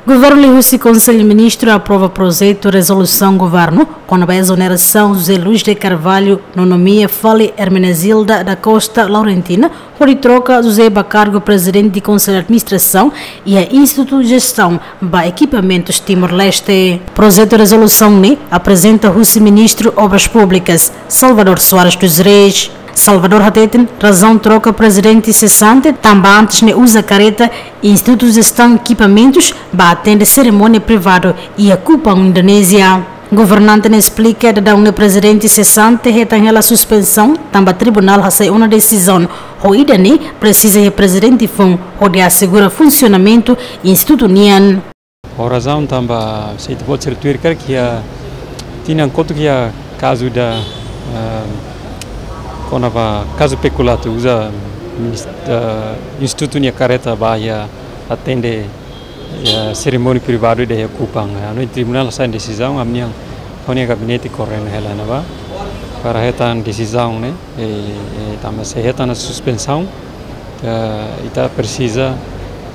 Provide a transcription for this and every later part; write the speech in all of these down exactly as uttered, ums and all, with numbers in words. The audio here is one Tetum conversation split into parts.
Governu liuhusi Konsellu Ministru aprova projetu rezolusaun governu kona-ba ezonerasaun José Luís de Carvalho no nomeia fali Hermenegilda da Costa Laurentina, hodi troka José ba kargu Prezidente Konsellu Administrasaun iha Institutu Jestaun ba Ekipamentus Timor-Leste. Projetu rezolusaun ne'e aprezenta husi Ministru Obras Públikas, Salvador Soares dos Reis. Salvador hateten razaun troka prezidente sesante tanba antes ne'e uza kareta Institutu Jestaun Ekipamentus ba atende serimónia privadu iha Kupang, Indonézia. Governante ne'e esplika daudaun ne'e prezidente sesante hetan hela suspensaun tanba tribunál hasai ona desizaun, ho ida-ne'e presiza iha prezidente foun hodi asegura funsionamentu institutu nian. Ho razaun tanba, se ita-boot sira tuir karik, iha tinan kotuk iha kazu ida, eh, kona-ba kazu pekulato, uza minis-, eh, institutu nia kareta ba iha atende, iha serimónia privadu ida iha Kupang. Anu, tribunál hasai desizaun, ami-nian, ha'u-nia gabinete koordena hela iha ne'ebá para hetan desizaun ne'e, eh, eh, tanba se hetan suspensaun, eh, ita presiza,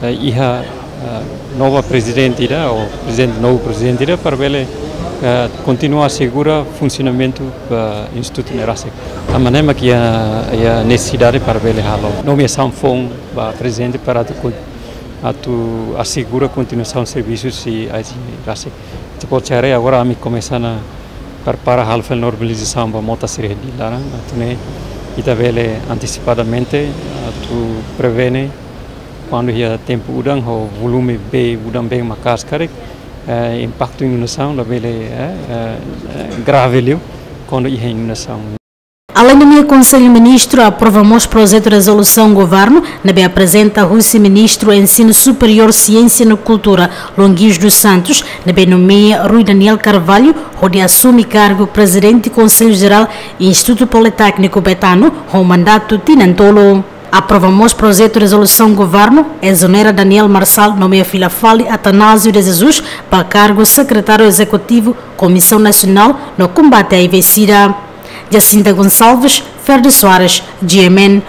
eh, iha, eh, nova prezidente ida, ou prezidente, novu prezidente ida, para bele, eh, kontinua asegura funsionamentu ba institutu ne'e rasik. Tanba ne'e mak iha, iha nesesidade para bele halo nomeasaun foun ba prezidente para atu kon-, atu asegura kontinuasaun servisu husi A I C rasik. Ita-boot sira haree, agora ami komesa ona prepara halo fali normalizasaun ba mota sira iha Dili laran, atu nune'e ita bele antesipadamente, atu prevene kuandu iha tempu udan ho volume bee, udan bee maka'as karik, eh, impaktu inundasaun labele, eh, eh, eh, grave liu kuandu iha inundasaun. Aleinde ne'e, Konsellu Ministru aprova mós projetu rezolusaun governu ne'ebé aprezenta husi Ministru Ensinu Superiór, Siénsia no Kultura, Luan Guios dos Santos, ne'ebé nomeia Rui Daniel Carvalho hodi asume kargu Prezidente Konsellu Jerál Institutu Politékniku Betano ho mandatu tinan tolu. Aprova mós projetu rezolusaun governu ezonera Daniel Marçal, nomeia fila fali Atanásio de Jesus ba kargu Sekretáriu Ezekutivu Komisaun Nasionál no Kombate HIV-SIDA. Jacinta Gonçalves, Ferdi Soares, G M N,